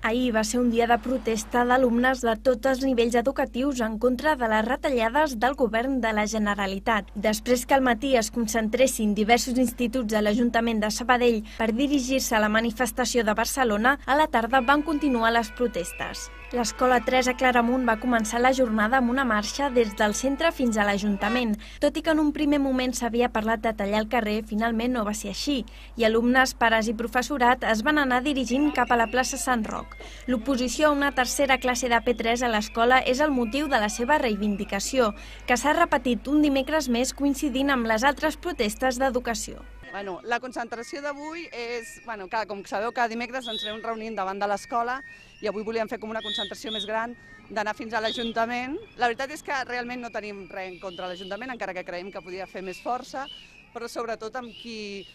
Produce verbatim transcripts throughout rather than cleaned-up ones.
Ahir va ser un dia de protesta d'alumnes de tots els nivells educatius en contra de les retallades del govern de la Generalitat. Després que al matí es concentressin diversos instituts de l'Ajuntament de Sabadell per dirigir-se a la manifestació de Barcelona, a la tarda van continuar les protestes. L'Escola tres a Claramunt va començar la jornada amb una marxa des del centre fins a l'Ajuntament. Tot i que en un primer moment s'havia parlat de tallar el carrer, finalment no va ser així, i alumnes, pares i professorat es van anar dirigint cap a la plaça Sant Roc. L'oposició a una tercera classe de P tres a l'escola és el motiu de la seva reivindicació, que s'ha repetit un dimecres més coincidint amb les altres protestes d'educació. Bueno, la concentració d'avui és, bueno, cada, com sabeu, cada dimecres ens anem reunint davant de l'escola i avui volíem fer com una concentració més gran d'anar fins a l'Ajuntament. La veritat és que realment no tenim res en contra de l'Ajuntament, encara que creiem que podia fer més força, però sobretot amb qui,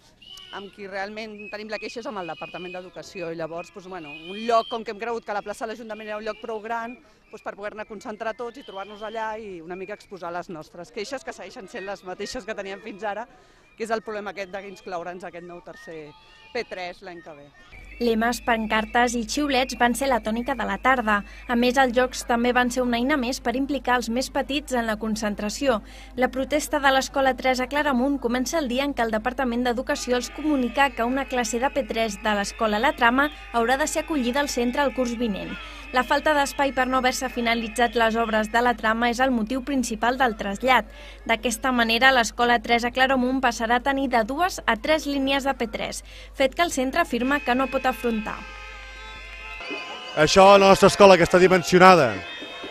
amb qui realment tenim la queixa és amb el Departament d'Educació. I llavors, doncs, bueno, un lloc, com que hem cregut que la plaça de l'Ajuntament era un lloc prou gran, doncs, per poder-ne concentrar tots i trobar-nos allà i una mica exposar les nostres queixes, que segueixen sent les mateixes que teníem fins ara, que és el problema aquest d'incloure'ns aquest nou tercer P tres l'any que ve. Lemes, pancartes i xiulets van ser la tònica de la tarda. A més, els jocs també van ser una eina més per implicar els més petits en la concentració. La protesta de l'Escola tres a Claramunt comença el dia en què el Departament d'Educació els comunica que una classe de P tres de l'Escola La Trama haurà de ser acollida al centre el curs vinent. La falta d'espai per no haver-se finalitzat les obres de la trama és el motiu principal del trasllat. D'aquesta manera, l'Escola tres a Claramunt passarà a tenir de dues a tres línies de P tres, fet que el centre afirma que no pot afrontar. Això, la nostra escola, que està dimensionada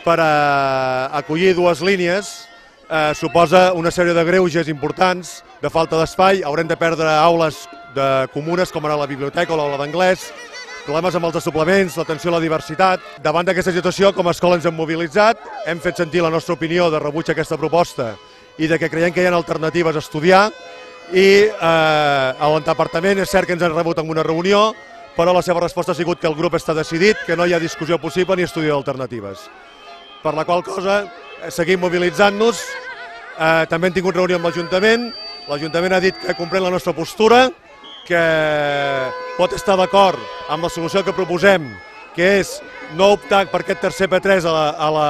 per a acollir dues línies, eh, suposa una sèrie de greuges importants, de falta d'espai. Haurem de perdre aules de comunes, com ara la biblioteca o l'aula d'anglès, problemes amb els desdoblaments, l'atenció a la diversitat. Davant d'aquesta situació, com a escola ens hem mobilitzat, hem fet sentir la nostra opinió de rebuig a aquesta proposta i de que creiem que hi ha alternatives a estudiar, i eh, el departament és cert que ens han rebut en una reunió, però la seva resposta ha sigut que el grup està decidit, que no hi ha discussió possible ni estudi d'alternatives. Per la qual cosa seguim mobilitzant-nos, eh, també hem tingut reunió amb l'Ajuntament, l'Ajuntament ha dit que comprèn la nostra postura, que pot estar d'acord amb la solució que proposem, que és no optar per aquest tercer P tres a la, a la,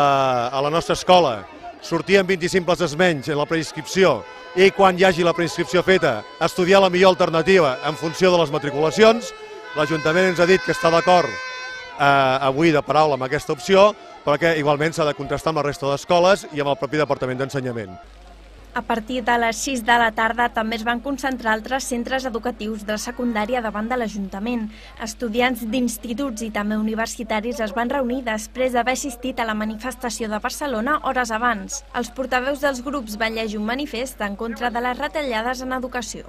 a la nostra escola, sortir amb vint-i-cinc places menys en la preinscripció i quan hi hagi la preinscripció feta estudiar la millor alternativa en funció de les matriculacions. L'Ajuntament ens ha dit que està d'acord eh, avui de paraula amb aquesta opció, però que igualment s'ha de contrastar amb la resta d'escoles i amb el propi Departament d'Ensenyament. A partir de les sis de la tarda també es van concentrar altres centres educatius de secundària davant de l'Ajuntament. Estudiants d'instituts i també universitaris es van reunir després d'haver assistit a la manifestació de Barcelona hores abans. Els portaveus dels grups van llegir un manifest en contra de les retallades en educació.